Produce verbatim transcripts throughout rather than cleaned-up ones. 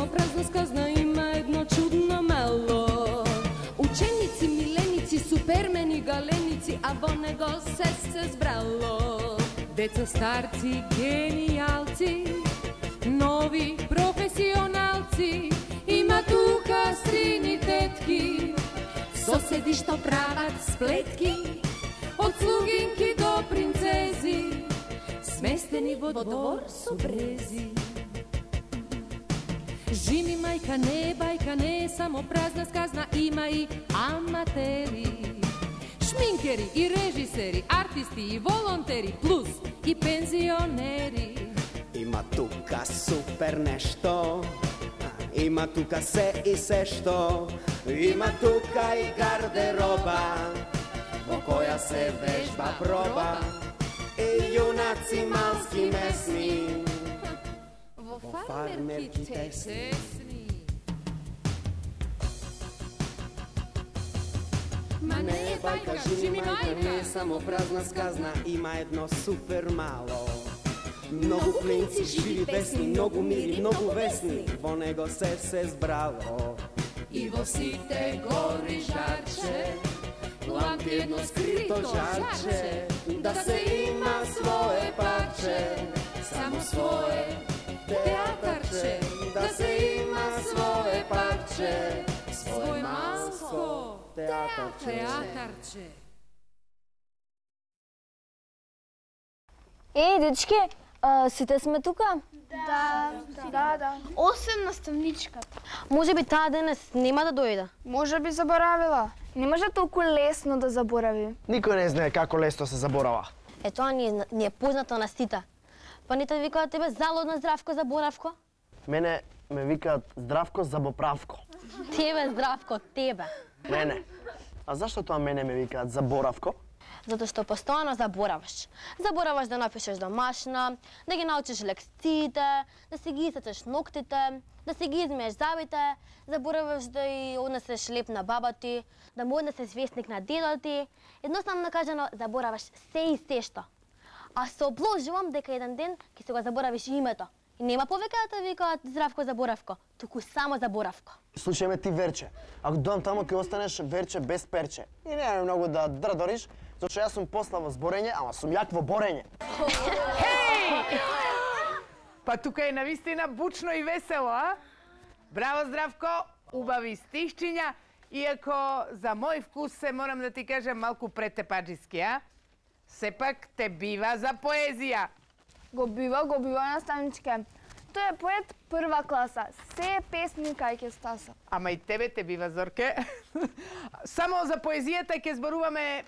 само празна сказна, има едно чудно мало. Ученици, миленици, супермени, галеници, а во него се се збрало. Деца, старци, гениалци, нови професионалци, има тука стрини тетки, соседи што прават сплетки, од слугинки до принцези, сместени во двор со брези. Живи мајка, не бајка, не само празна сказна, има и аматери, шминкери и режисери, артисти и волонтери, плюс и пензионери. Има тука супер нешто, има тука се и се што, има тука и гардероба, во која се вежба проба, и јунаци малски месни, во фармерки тесни. Ма не бајка, живи мајка, не само празна сказна, има едно супер мало. Многу клинци, живи песни, многу мири, многу весни, во него се се збрало. И во сите гори жарче, лампи едно скрито жарче, да се има свое парче, само свое театарче, да се има свое парче, свој малко театарче. театарче. Еј, дечки, а, сите сме тука? Да, да, да. Осем наставничката. Може би таа денес нема да дојде. Може би заборавила. Не може толку лесно да заборави. Никој не знае како лесно се заборава. Е, тоа ни е, ни е познато на сите. Па не те викаат тебе залудно Здравко Заборавко? Мене ме викаат Здравко Забоправко. Тебе, Здравко, тебе. Мене. А зашто тоа мене ме викаат Заборавко? Затоа што постојано забораваш. Забораваш да напишеш домашна, да ги научиш лекциите, да си ги исечеш ноктите, да си ги измиеш зъбите, забораваш да и однесеш леп на баба ти, да му однесеш вестник на дедо ти. Едноставно кажано, забораваш се и се што. А се обложувам дека еден ден ќе се го заборавиш името. И нема повеќе да те викаат Здравко Заборавко, туку само Заборавко. Слушај ме ти Верче, ако дојдам тамо ќе останеш Верче без перче. И нема многу да дрдориш, зашто јас сум посла во зборење, ама сум јак во борење. Хеј! Па тука е навистина бучно и весело, а? Браво, Здравко, убави стихчиња, иако за мој вкус се морам да ти кажам малку претепаджиски, а? Сепак те бива за поезија. Го бива, го бива наставничке. Тој е поет прва класа. Се е песни кај ќе стаса. Ама и тебе те бива, Зорке. Само за поезијата ќе зборуваме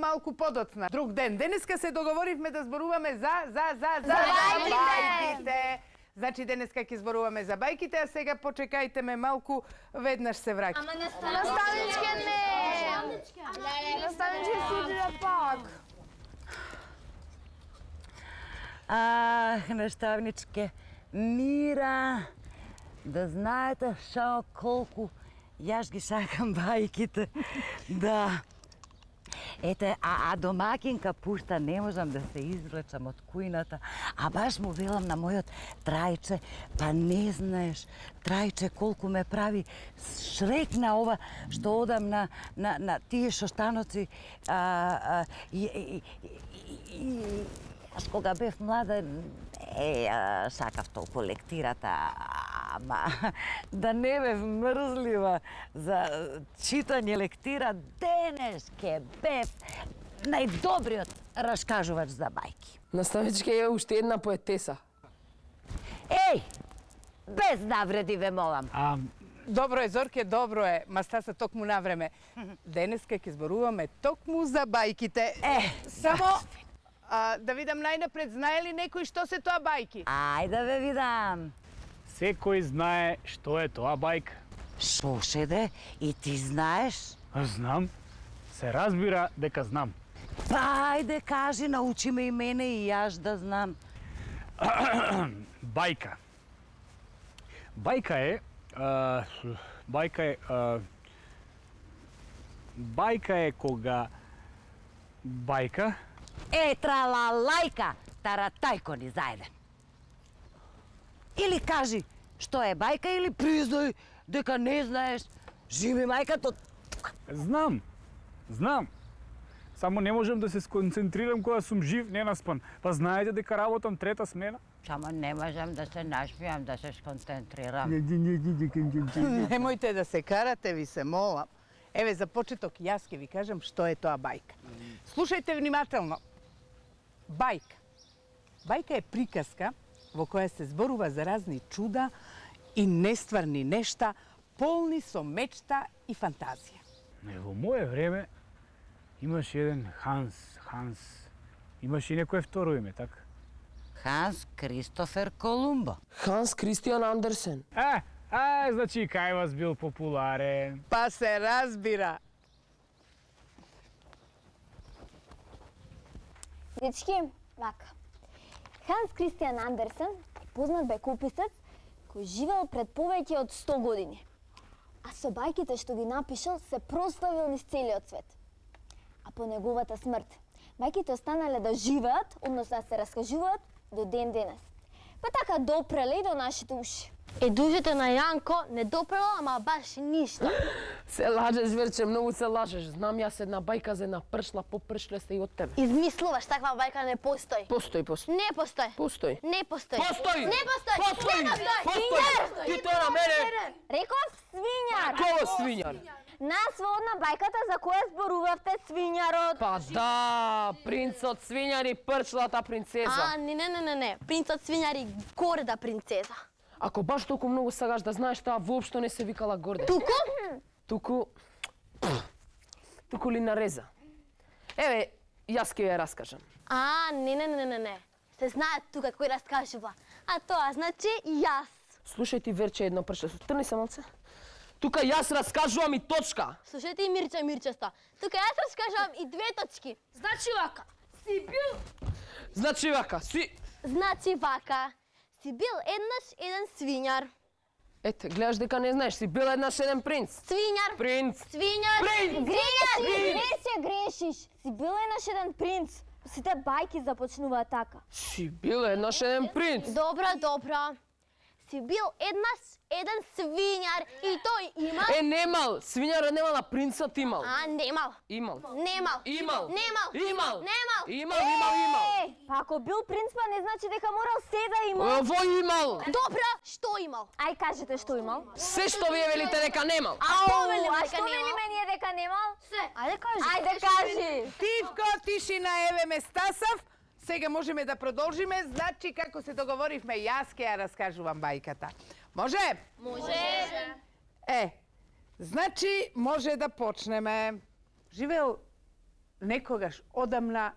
малку подоцна. Друг ден. Денеска се договоривме да зборуваме за, за, за, за... За бајките! бајките. Значи, денеска ќе зборуваме за бајките, а сега почекајте ме малку, веднаш се враќам. Ама наставничке не! Наставничке си иде пак. Ах, наставничке, мира, да знаете шо колку јас ги сакам бајките. Да. Ете, а, а домакинка пушта не можам да се извлечам од кујната, а баш му велам на мојот Трајче, па не знаеш, Трајче колку ме прави шрек на ова што одам на, на, на тие шоштаноци, а, а, и, и, и, и, Јас кога бев млада, е, сакав толку лектирата, ама да не бев мрзлива за читање лектира, денес ке бев најдобриот раскажувач за бајки. Наставничке е уште една поетеса. Еј, без навреди ве молам. А, добро е, Зорке, добро е, ма стаса токму на време. Денеска ќе зборуваме токму за бајките. Е, само... А, да видам најнапред, знае ли некој што се тоа бајки? Ајде ве видам. Секој знае што е тоа бајка. Шо шеде, и ти знаеш? Знам. Се разбира дека знам. Па ајде кажи, научи ме и мене и јас да знам. Бајка. Бајка е... А, бајка е... А, бајка е кога... Бајка... Е, трала лајка, таратајко ни заеден. Или кажи, што е бајка или признај дека не знаеш? Живи мајкато. Знам, знам. Само не можам да се сконцентрирам кога сум жив, не наспан. Па знаете дека работам трета смена? Само не можам да се нашмијам, да се сконцентрирам. Немојте да се карате, ви се молам. Еве, за почеток, јас ќе ви кажам што е тоа бајка. Слушајте внимателно. Бајка. Бајка е приказка во која се зборува за разни чуда и нестварни нешта, полни со мечта и фантазија. Не, во моје време имаш еден Ханс, Ханс. Имаш и некое второ име, така? Ханс Кристофер Колумбо. Ханс Кристијан Андерсен. Е, а, значи кај вас бил популарен. Па се разбира. Дечки, вака. Ханс Кристијан Андерсен е познат бајкописец кој живеел пред повеќе од сто години. А со бајките што ги напишал се прославил низ целиот свет. А по неговата смрт, бајките останале да живеат, односно да се раскажуваат до ден денес. Па така допреле и до нашите уши. Е, дужите на Јанко не допрела, ама баш ништо. Се лажеш, Верче, многу се лажеш. Знам јас една бајка за една пршла, попршлеста и од тебе. Измислуваш, таква бајка не постои. Постои, постои. Не постои. Постои. Не постои. Постои! Не постои. Постои! Не постои. Постои! Ти тоа на мене! Реков свињар. Кој свињар? Нас во одна бајката за која зборувавте свињарот. Па да, принцот свињар и пршлата принцеза. А, не, не, не, не, не. Принцот свињар и горда принцеза. Ако баш толку многу сакаш да знаеш, таа воопшто не се викала Горде. Туку? Туку... Туку ли нареза. Еве, јас ќе ја раскажам. А, не, не, не, не, не. Се знае тука кој раскажува. А тоа значи јас. Слушај ти, Верче, едно пршле. Трни се малце. Тука јас раскажувам и точка. Слушајте и Мирче, Мирчеста. Тука јас раскажувам и две точки. Значи вака. Си бил... Значи вака, си... Значи вака. Си бил еднаш еден свињар. Ете, гледаш дека не знаеш, си бил еднаш еден принц. Свињар. Принц. Свињар. Принц. Грешиш, грешиш, грешиш. Си бил еднаш еден принц. Сите бајки започнуваат така. Си бил еднаш еден принц. Добро, добро. Си бил еднаш еден свињар и тој имал... Е, немал. Свињарот немал, а принцот имал. А, немал. Имал. Немал. Имал. Немал. Имал. Немал. Имал, имал, имал. Е, па ако бил принц, па не значи дека морал се да има. Ово имал. Добро, што имал? Ај кажете што имал. Се што вие велите дека немал. Ау, А што велиме ние дека немал? Се. Ајде кажи. Ајде кажи. Тивко, тишина, еве ме стасав. Сега можеме да продолжиме, значи како се договоривме, јас ќе ја раскажувам бајката. Може? Може. Е, значи може да почнеме. Живеел некогаш одамна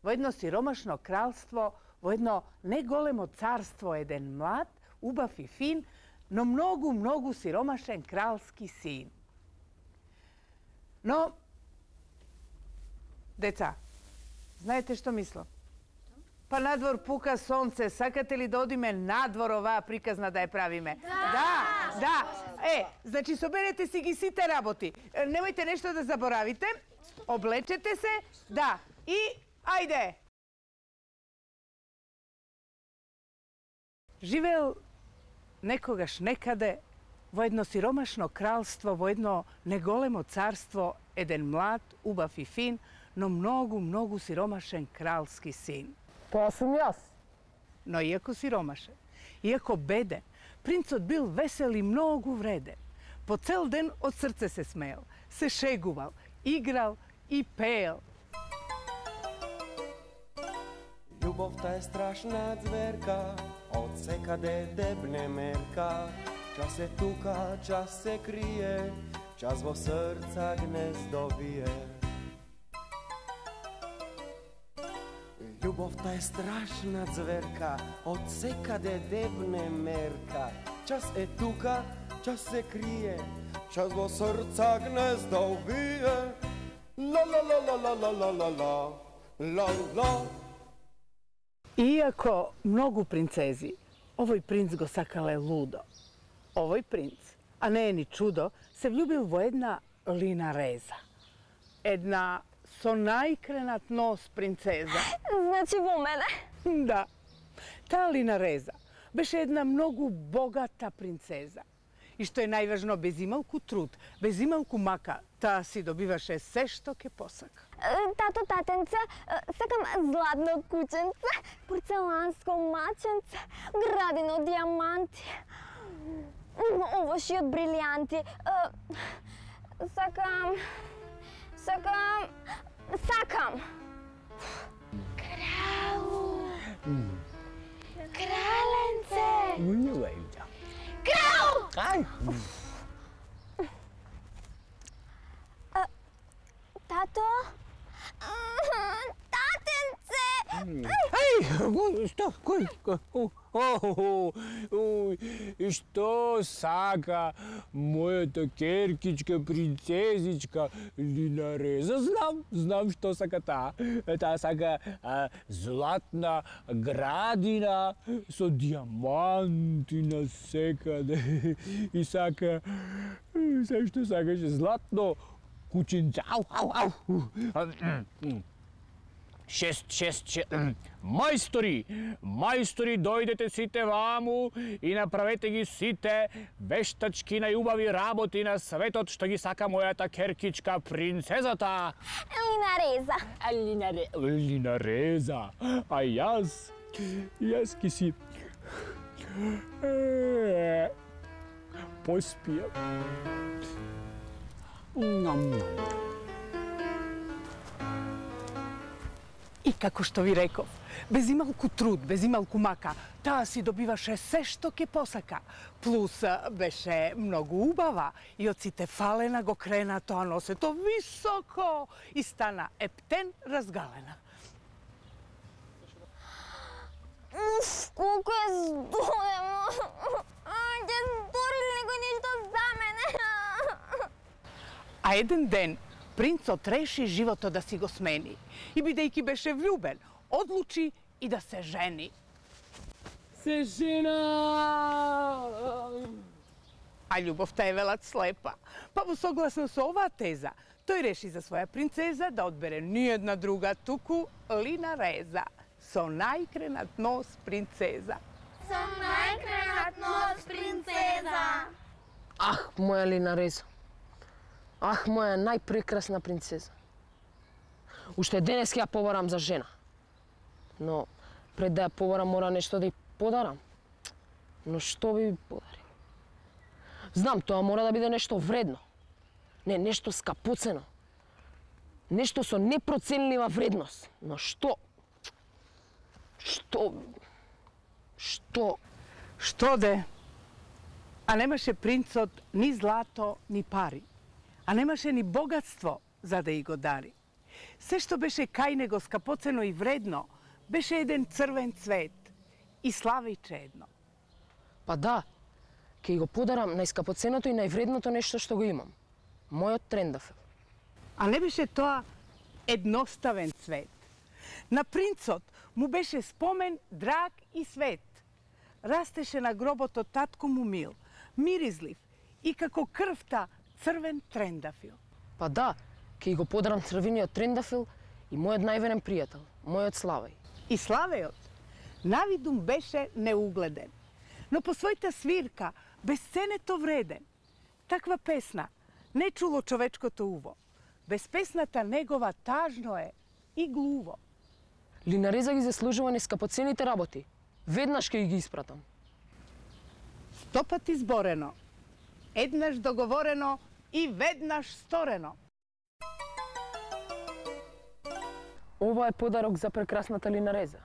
во едно сиромашно кралство, во едно неголемо царство, еден млад, убав и фин, но многу, многу сиромашен кралски син. Но, деца, знаете што мислам? Па надвор пука сонце, сакате ли да одиме надвор оваа приказна да ја правиме? Да! Да, да. Е, значи соберете си ги сите работи. Немојте нешто да заборавите. Облечете се. Да. И, ајде! Живеел некогаш некаде во едно сиромашно кралство, во едно неголемо царство, еден млад, убав и фин, но многу, многу сиромашен кралски син. Тоа сум јас. Но иако сиромашен, иако беден, принцот бил весел и многу вреден. По цел ден од срце се смеел, се шегувал, играл и пеел. Љубовта е страшна зверка, од секаде дебне мерка. Час е тука, час се крие, час во срца гнездо вие. Љубовта е страшна зверка, од секаде дебне мерка. Час е тука, час се крие, час во срца гнездо вие. Ла ла ла ла ла ла ла ла ла ла ла. Иако многу принцези, овој принц го сакале лудо. Овој принц, а не е ни чудо, се влюбил во една линареза. Една со најкренат нос принцеза. Значи во мене? Да. Таа линареза беше една многу богата принцеза. И што е најважно, без ималку труд, без ималку мака, таа си добиваше се што ке посака. Тато, татенце, сакам златно кученце, порцеланско маченце, градино од диаманти, овоши од брилијанти. Сакам... Сакам... Сакам! Кралу! Краленце! Крал! Ај! Тато? Татенце! Ај, што? Кој? Ој, што сака мојата керкичка, принцезичка Линареза? Знам, знам што сака таа. Таа сака а, златна градина со диаманти на секаде. И сака, се што сакаше, златно кученце. Ау, ау, ау. Шест, шест, шест. Мајстори, мајстори, дојдете сите ваму и направете ги сите вештачки најубави работи на светот што ги сака мојата керкичка принцезата. Линареза. Линаре... Линареза. А јас, јас ки си... поспијам. Нам-нам. И како што ви реков, без ималку труд, без ималку мака, таа си добиваше се што ке посака. Плюс беше многу убава и од сите фалена го крена тоа носето високо и стана ептен разгалена. Уф, колку е здолемо! Ќе стори ли некој нешто за мене? А еден ден принцот реши животот да си го смени и бидејќи беше влюбен, одлучи и да се жени. Се жена! А љубовта е велат слепа. Па во согласно со оваа теза, тој реши за своја принцеза да одбере ниедна друга, туку Линареза, со најкренат нос принцеза. Со најкренат нос принцеза. Ах, моја Линареза. Ах, моја најпрекрасна принцеза. Уште денес ќе ја побарам за жена. Но пред да ја побарам мора нешто да ја подарам. Но што би подарил? Знам, тоа мора да биде нешто вредно. Не, нешто скапоцено. Нешто со непроценлива вредност. Но што? Што? Што? Што де? А немаше принцот ни злато, ни пари. А немаше ни богатство за да и го дари. Се што беше кај него скапоцено и вредно, беше еден црвен цвет и славиче едно. Па да, ќе го подарам најскапоценото и највредното нешто што го имам. Мојот трендафел. А не беше тоа едноставен цвет. На принцот му беше спомен драг и свет. Растеше на гробот од татко му мил, миризлив и како крвта црвен трендафил. Па да, ќе го подарам црвениот трендафил и мојот најверен пријател, мојот Славеј. И Славејот навидум беше неугледен, но по својата свирка безценето вреден. Таква песна не чуло човечкото уво. Без песната негова тажно е и глуво. Линареза ги заслужува нескапоцените работи. Веднаш ќе ги испратам. Сто пати зборено, еднаш договорено и веднаш сторено. Ова е подарок за прекрасната Линареза.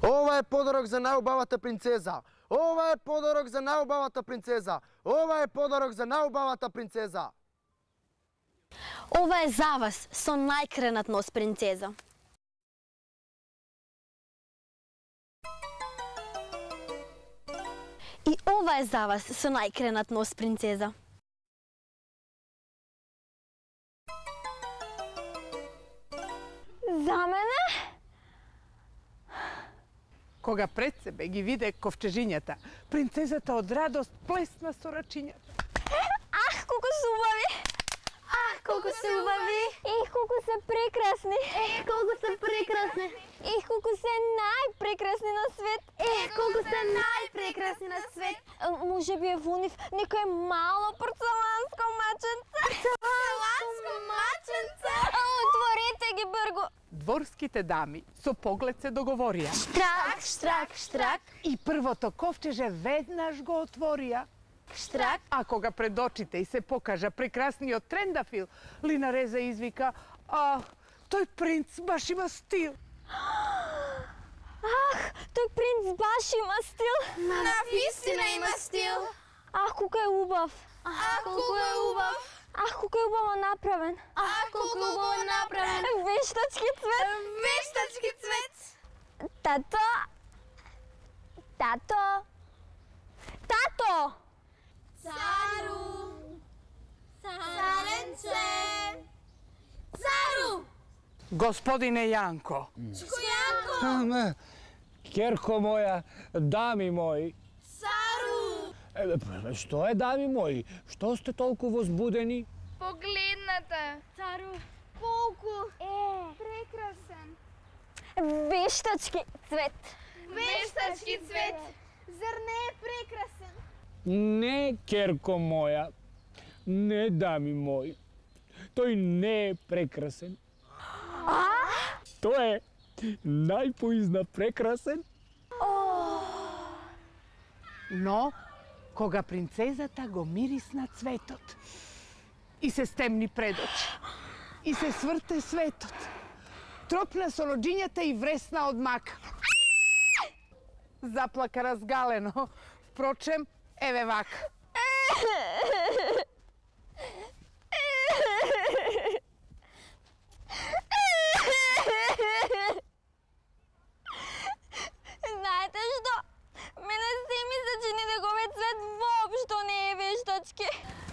Ова е подарок за најубавата принцеза. Ова е подарок за најубавата принцеза. Ова е подарок за најубавата принцеза. Ова е за вас со најкренат нос, принцеза. И ова е за вас со најкренат нос, принцеза. За мене? Кога пред себе ги виде ковчежињата, принцезата од радост плесна со рачињата. Ах, колку се убави! Ах, колку се убави! Ех, колку се прекрасни! Ех, колку се прекрасни! Ех, колку се најпрекрасни на свет! Ех, колку се најпрекрасни на свет! Може би е во нив некој мало порцеланско маченце. Порцеланско маченце? Отворете ги бргу! Дворските дами со поглед се договорија. Штрак, штрак, штрак. И првото ковчеже веднаш го отворија. Штрак. А кога пред очите и се покажа прекрасниот трендафил, Линареза извика: "Ах, тој принц баш има стил." Ах, тој принц баш има стил. Навистина има стил. Ах, колку е убав. Ах, колку е убав. Ах, колку е убаво направен. Ах, колку е убаво направен. Вештачки цвет. Вештачки цвет. Тато. Тато. Тато. Цару. Царенце. Цару. Господине Јанко. Јанко. Керко моја, дами мои. Цару. Е, што е, дами мои? Што сте толку возбудени? Погледнете. Цару. Колку е прекрасен. Вештачки цвет. Вештачки цвет. Зар не е прекрасен? Не, Керко моја. Не, дами мои. Тој не е прекрасен. А? Тој е најпоизна прекрасен. Но, кога принцезата го мирисна цветот и се стемни пред очи, и се сврте светот, тропна со роџињата и вресна од мака. Заплака разгалено, впрочем, еве вака. Знаете што? Мене се ми се чини дека овој цвет воопшто не е вештачки.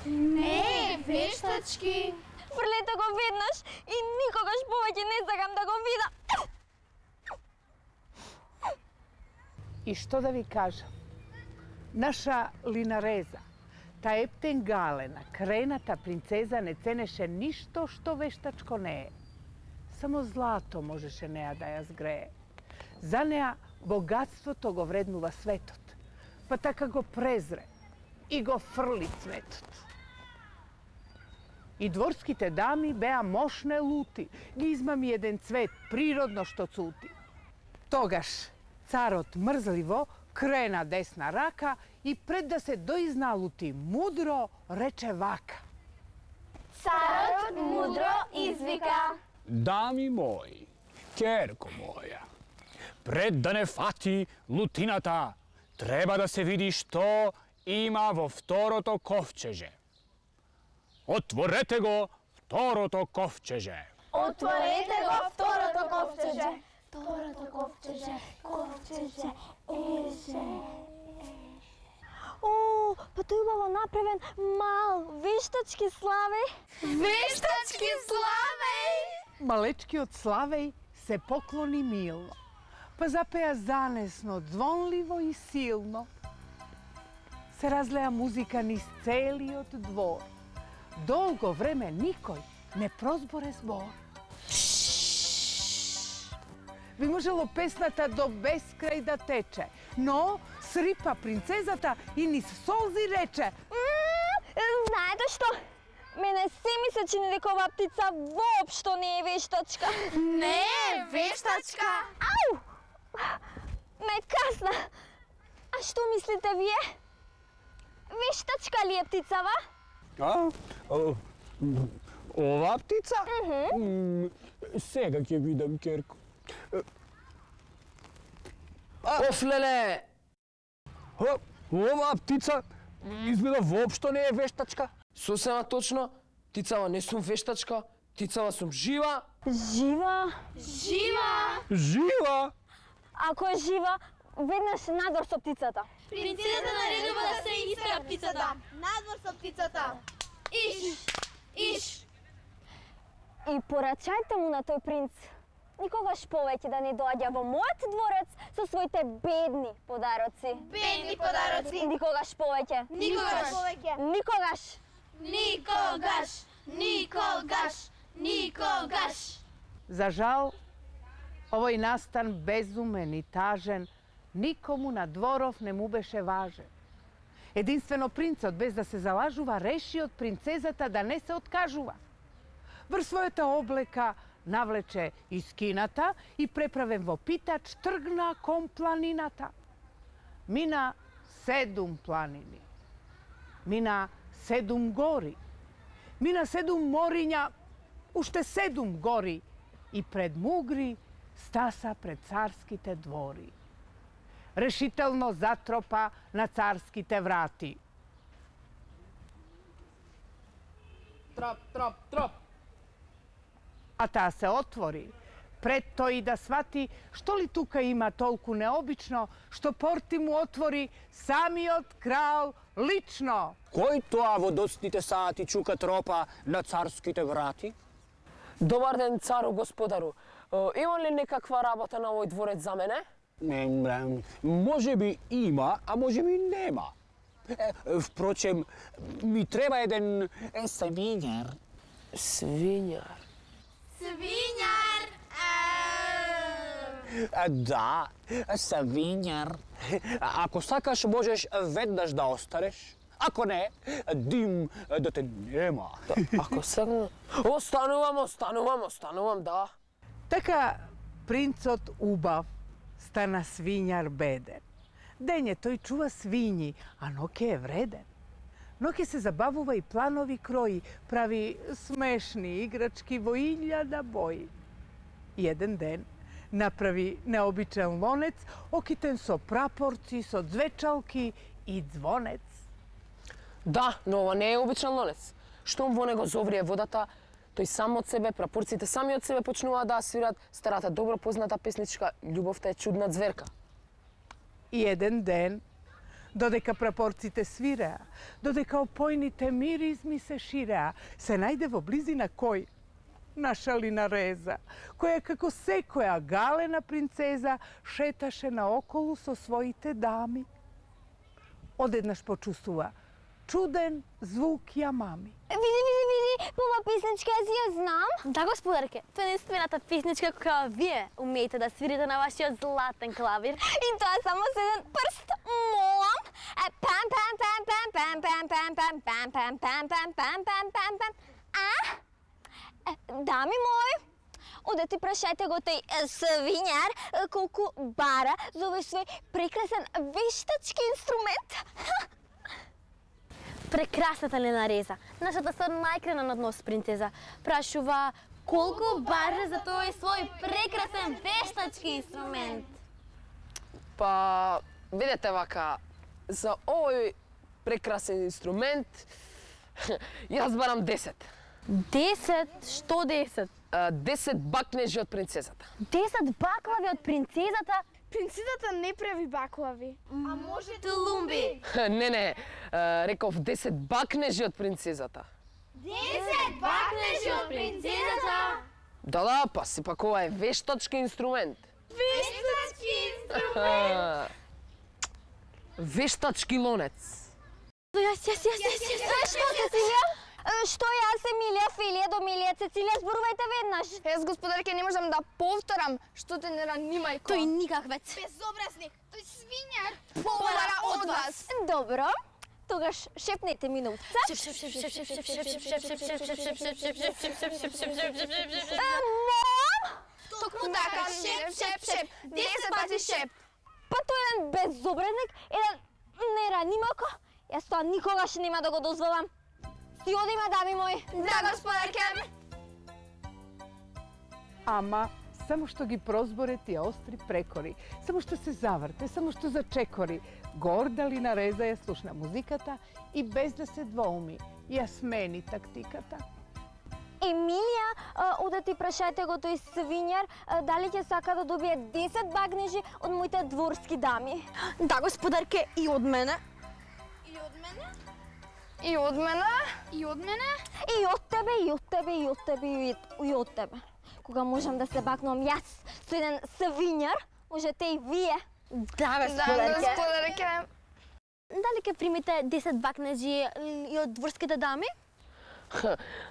Не е вештачки. Фрлете го веднаш и никогаш повеќе не сакам да го видам. И што да ви кажам? Наша Линареза, та ептен галена, крената принцеза не ценеше ништо што вештачко не е. Само злато можеше неа да ја згрее. За неа богатството го вреднува светот, па така го презре и го фрли цветот. И дворските дами беа мошне лути, ги измами еден цвет, природно што цути. Тогаш царот мрзливо крена десна рака и пред да се доизналути мудро рече вака. Царот мудро извика. Дами мои, Керко моја, пред да не фати лутината, треба да се види што има во второто ковчеже. Отворете го второто ковчеже. Отворете го второто ковчеже. Второто ковчеже, ковчеже, еже. О, па тој убаво направен мал вештачки Славеј. Вештачки Славеј. Малечкиот Славеј се поклони милно, па запеа занесно, звонливо и силно. Се разлеа музика низ целиот двор. Долго време никој не прозборе збор. Би можело песната до безкрај да тече, но срипа принцезата и низ солзи рече: Знаете што? Мене се ми се чини дека оваа птица воопшто не е вештачка. Не е вештачка. Ау! Ме касна. А што мислите вие? Вештачка ли е птицава? А? О, ова птица? М, Сега ќе видам, Керко. Оф, леле! О, ова птица изгледа воопшто не е вештачка. Сосема точно, Тицава не сум вештачка, тицава сум жива. Жива? Жива! Жива! Ако е жива, веднаш надвор со птицата. Принцезата наредува да се истера птицата. Надвор со птицата. Иш! Иш! И порачајте му на тој принц никогаш повеќе да не доаѓа во мојот дворец со своите бедни подароци. Бедни подароци. Никогаш повеќе. Никогаш повеќе. Никогаш. Никогаш! Никогаш! Никогаш! За жал, овој настан безумен и тажен никому на дворов не му беше важен. Единствено принцот, без да се залажува, реши од принцезата да не се откажува. Врз својата облека навлече из кината и преправен во питач тргна кон планината. Мина седум планини. Мина седум гори. Мина седум мориња, уште седум гори. И пред мугри стаса пред царските двори. Решително затропа на царските врати. Троп, троп, троп. А таа се отвори, пред тој да свати што ли тука има толку необично, што порти му отвори самиот крал лично. Кој тоа во доцните сати чука тропа на царските врати? Добар ден, цару господару. Е, има ли некаква работа на овој дворец за мене? Не, може би има, а може би нема. Е, впрочем, ми треба еден свињар. Свињар? Свињар! А, да, свињар. Ако сакаш, можеш веднаш да останеш. Ако не, дим да те нема. Ако сакам... Останувам, останувам, останувам, да. Така принцот убав стана свињар беден. Дење тој чува свињи, а ноќе е вреден. Ноќе се забавува и планови крои, прави смешни играчки во илјада бои. Еден ден направи необичен лонец, окитен со прапорци, со звечалки и звонец. Да, но ова не е обичен лонец. Штом во него зоврие водата, тој сам од себе, прапорците сами од себе почнуваат да свират старата добро позната песничка "Љубовта е чудна зверка". И еден ден, додека прапорците свиреа, додека опојните миризми се ширеа, се најде во близина кој? Наша Линареза, која како секоја галена принцеза шеташе наоколу со своите дами. Одеднаш почувствува чуден звук јамами. Види, види, види, ова песничка аз ја знам. Да, господарке, тоа е единствената песничка која вие умеете да свирите на вашиот златен клавир. И тоа само со еден прст, молам. Пам, пам, пам, пам, пам, пам, пам, пам, пам, пам, пам, пам, пам, пам, пам, пам. А? Дами мои, одете прашајте го тој свињар колку бара за овој свој прекрасен вештачки инструмент. Прекрасната Линареза, нашата со најкрена на однос принцеза, прашува колку бара за тој свој прекрасен вештачки инструмент. Па, видете вака, за овој прекрасен инструмент, јас барам десет. Десет? Што десет? А, десет бакнежи од принцезата. Десет баклави од принцезата? Принцезата не прави баклави. А може тулумби? Не, не, а, реков десет бакнежи од принцезата. десет бакнежи од принцезата? Да, да, па си пак ова е вештачки инструмент. Вештачки инструмент? Вештачки лонец. Јас, јас, јас, јас, јас, јас, што, Цецилија? Што јас, Емилија, Филија, Домилија, Цецилија, зборувајте веднаш. Јас, господарке, не можам да повторам, што те не рани, мајко. Тој никаквец. Безобразник, тој свињар. Побара од вас. Добро, тогаш шепнете ми на устца. Мом! Токму така, шеп, шеп, шеп, десет пати шеп. Па тој е еден безобразник, еден неранимако. Јас тоа никогаш нема да го дозволам. Си одиме, дами мои. Да, господарке. Ама само што ги прозборе тие остри прекори, само што се заврте, само што зачекори, горда Линареза ја слушна музиката и без да се двоуми, ја смени тактиката. Емилија, оде ти прашајте го тој свињар, дали ќе сака да добие десет багнежи од моите дворски дами. Да, господарке, и од мене. И од мене? И од мене? И од мене? И од тебе, и од тебе, и од тебе, и, и од тебе. Кога можам да се бакнувам јас со еден свињар, можете и вие. Да, Да, господарке. господарке. Дали ќе примите десет бакнежи и од дворските дами?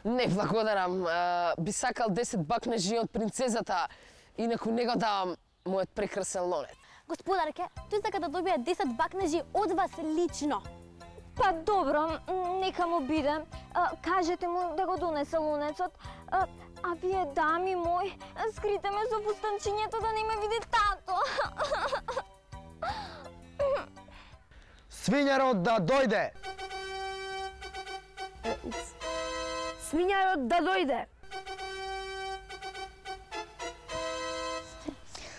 Не благодарам. А, би сакал десет бакнежи од принцезата, инаку не го давам мојот прекрасен лонет. Господарке, тој сака да добие десет бакнежи од вас лично. Па добро, нека му биде. А, кажете му да го донесе лунецот. А, а вие, дами мои, скрите ме со фустанчињето да не ме види тато. Свињарот да дојде! Свињарот да дојде.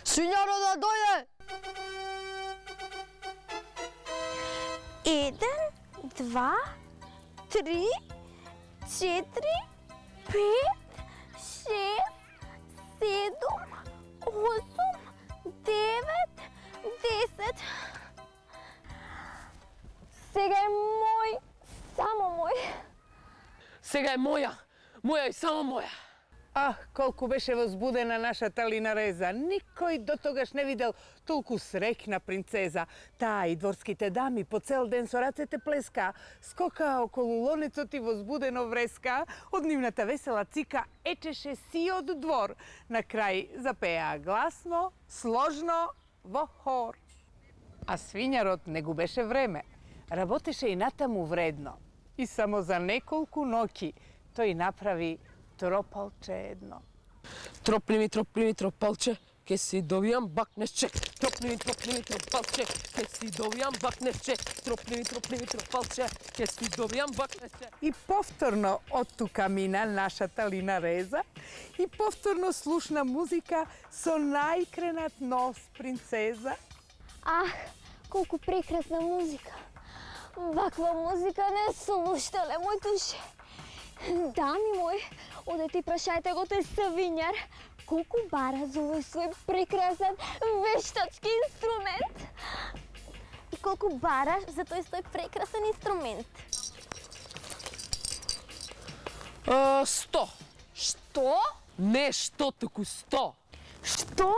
Свињарот да дојде! Еден, два, три, четири, пет, шест, седум, осум, девет, десет. Сега е мој, само мој. Сега е моја, моја и само моја. Ах, колку беше возбудена нашата Линареза. Никој до тогаш не видел толку среќна принцеза. Таа и дворските дами по цел ден со рацете плеска, скока околу лонецот и возбудено вреска, од нивната весела цика ечеше сиот двор. На крај запеа гласно, сложно, во хор. А свињарот не губеше време. Работеше и натаму вредно. И само за неколку ноќи тој направи тропалче едно. Тропли ми, тропли ми, тропалче, ке си добијам бакнешче. Тропли ми, тропли ми, тропалче, ке си добијам бакнешче. Тропли ми, тропли ми, тропалче, ке си добијам бакнешче. И повторно од тука мина нашата Линареза и повторно слушна музика со најкренат нос принцеза. Ах, колку прекрасна музика. Ваква музика не слушале моите уши. Дами мои, оде ти прашајте го тој свињар, колку бара за овој свој прекрасен вештачки инструмент. И колку бараш за тој свој прекрасен инструмент. А, сто. Што? Не што, туку сто. Што?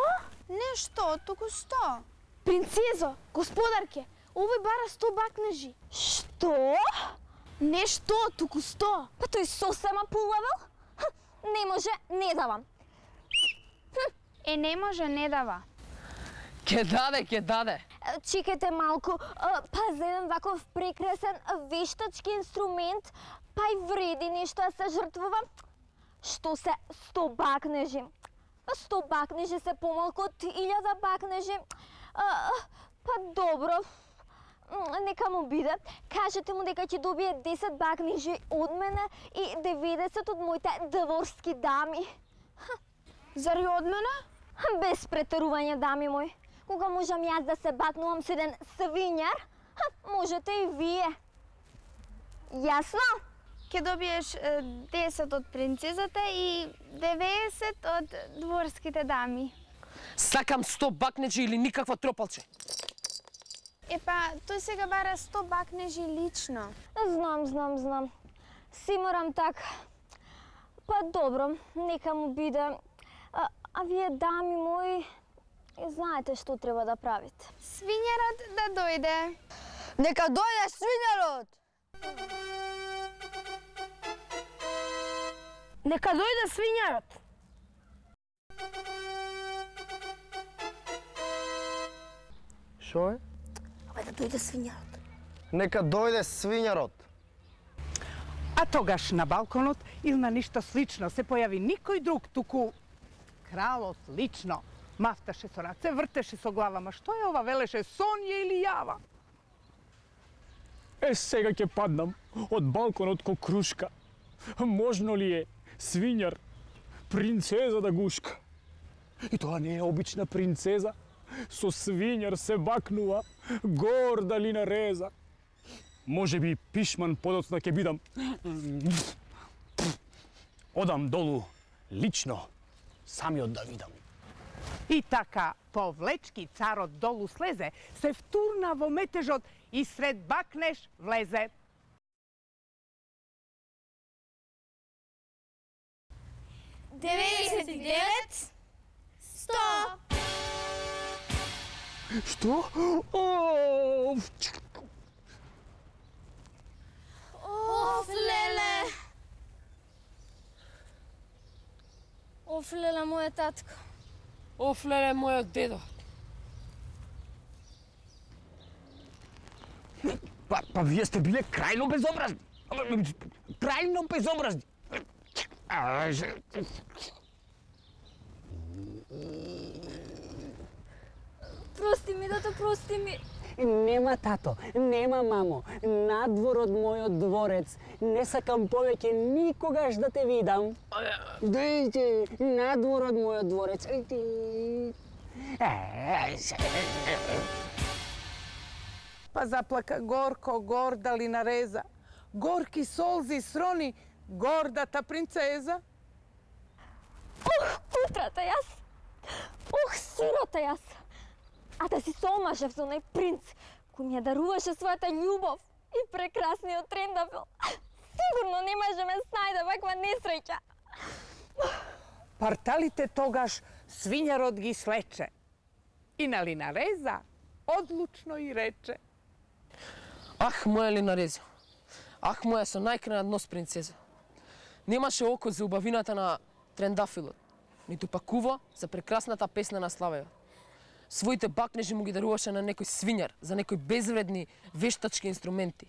Не што, туку сто. Принцезо, господарке, овој бара сто бакнежи. Што? Не што, туку сто. Па тој сосема полавел? Не може, не давам. Е, не може, не дава. Ке даде, ке даде. Чекайте малку, па за еден ваков прекрасен вештачки инструмент, па и вреди нешто да се жртвува. Што се сто бакнежи? сто бакнежи се помалку од илјада бакнежи. Па добро, нека му биде. Кажете му дека ќе добие десет бакнежи од мене и деветдесет од моите дворски дами. Зари од мене? Без претерување, дами мои. Кога можам јас да се бакнувам со еден свињар, можете и вие. Јасно? Ке добиеш е, десет од принцезата и деветдесет од дворските дами. Сакам сто бакнежи или никакво тропалче. Епа, тој сега бара сто бакнежи лично. Знам, знам, знам. Си морам така. Па добро, нека му биде. А, а вие, дами мои, знаете што треба да правите. Свињарот да дојде. Нека дојде свињарот! Нека дојде свињарот. Шо е? Абе да дојде свињарот. Нека дојде свињарот. А тогаш на балконот или на ништо слично се појави никој друг, туку кралот лично. Мафташе со раце, вртеше со глава, ма што е ова, велеше, сон е или јава? Е, сега ќе паднам од балконот ко крушка. Можно ли е свињар, принцеза да гушка? И тоа не е обична принцеза. Со свињар се бакнува, горда Линареза. Може би пишман подоцна ќе бидам. одам долу лично, самиот да видам. И така, повлечки царот долу слезе, се втурна во метежот и сред бакнеш влезе. деветдесет и девет, сто. Што? О! Оф, леле! Оф, леле, моја татко. Оф, леле, мојот дедо. Па, па вие сте биле крајно безобразни. Крајно безобразни. Прости ми, тато, прости ми. Нема тато, нема мамо, надвор од мојот дворец. Не сакам повеќе никогаш да те видам. Дојде, надвор од мојот дворец. Па заплака горко, горда Линареза. Горки солзи срони гордата принцеза. Ух, кутрата јас. Ух, сирота јас. А да си се омажев за онај принц, кој ми ја даруваше својата љубов и прекрасниот трендафил. Сигурно не може ме снајде ваква несреќа. Парталите тогаш свињарот ги слече. И на Линареза одлучно и рече. Ах, моја Линареза. Ах, моја со најкрена нос принцеза. Немаше око за убавината на трендафилот, ниту пак уво за прекрасната песна на Славева. Своите бакнежи му ги даруваше на некој свињар, за некои безвредни вештачки инструменти.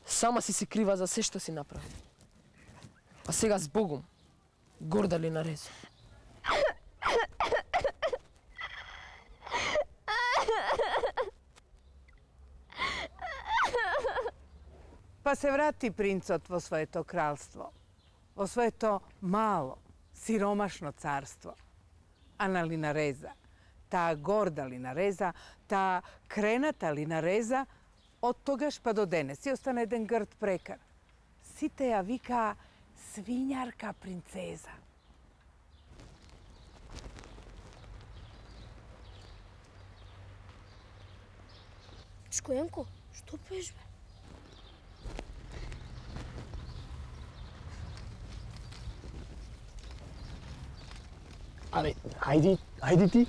Сама си се крива за се што си направи. А сега с Богом, горда Линареза. Па се врати принцот во своето кралство, во своето мало, сиромашно царство. А на Линареза, таа горда Линареза, таа крената Линареза, од тогаш па до денес си остана еден грд прекар. Сите ја вика свињарка принцеза. Шкојанко, што пеш, бе? Абе, хајди, хајди ти.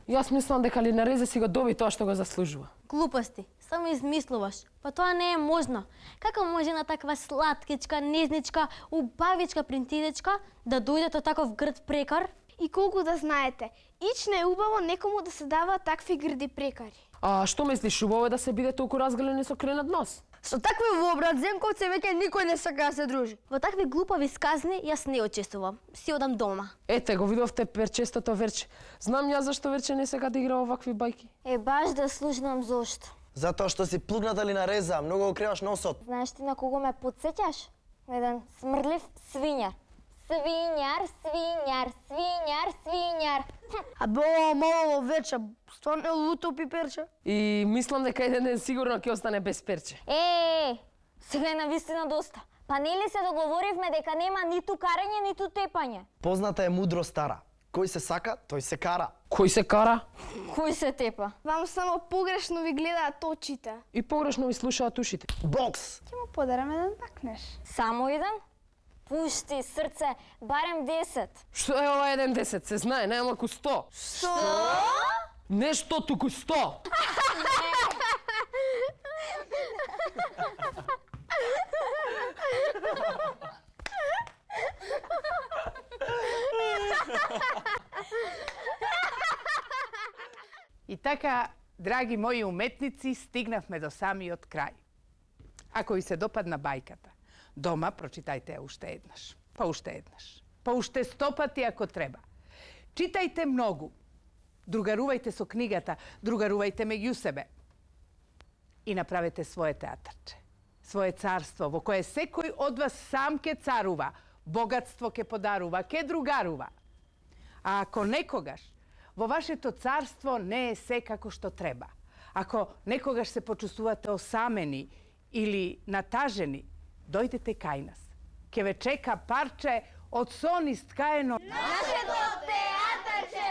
Јас мислам дека Линареза си го доби тоа што го заслужува. Глупости, само измислуваш. Па тоа не е можно. Како може една таква сладкичка, незничка, убавичка принцезичка да дојде од таков грд прекар? И колку да знаете, ич не е убаво некому да се дава такви грди прекари. А што мислиш, убаво е да се биде толку разгалени со кренат нос? Со такви вообразенковци веќе никој не сака да се дружи. Во такви глупави сказни јас не учествувам. Си одам дома. Ете, го видовте перчестото Верче. Знам ја зашто Верче не сака да игра овакви бајки. Е, баш да слушнам зошто. Затоа што си плугната Линареза, многу го креваш носот. Знаеш ти на кого ме подсеќаш? Еден смрдлив свињар. Свињар, свињар, свињар, свињар. А бе, мало вече, стварно е луто пиперче. И мислам дека еден ден сигурно ќе остане без перче. Е, сега е навистина доста. Па нели се договоривме дека нема ниту карање, ниту тепање? Позната е мудро стара. Кој се сака, тој се кара. Кој се кара? Кој се тепа? Вам само погрешно ви гледаат очите. И погрешно ви слушаат ушите. Бокс! Ќе му подарам еден бакнеш. Само еден? Пушти, срце, барем десет. Што е ова еден десет? Се знае, најмалку сто. Што? Нешто туку сто. И така, драги мои уметници, стигнавме до самиот крај. Ако ви се допадна бајката, дома прочитајте ја уште еднаш, па уште еднаш, па уште сто пати ако треба. Читајте многу. Другарувајте со книгата, другарувајте меѓу себе. И направете свое театарче, свое царство во кое секој од вас сам ке царува, богатство ке подарува, ке другарува. А ако некогаш во вашето царство не е се како што треба, ако некогаш се почувствувате осамени или натажени, дојдете кај нас. Ке ве чека парче од сон искаено. Нашето театарче!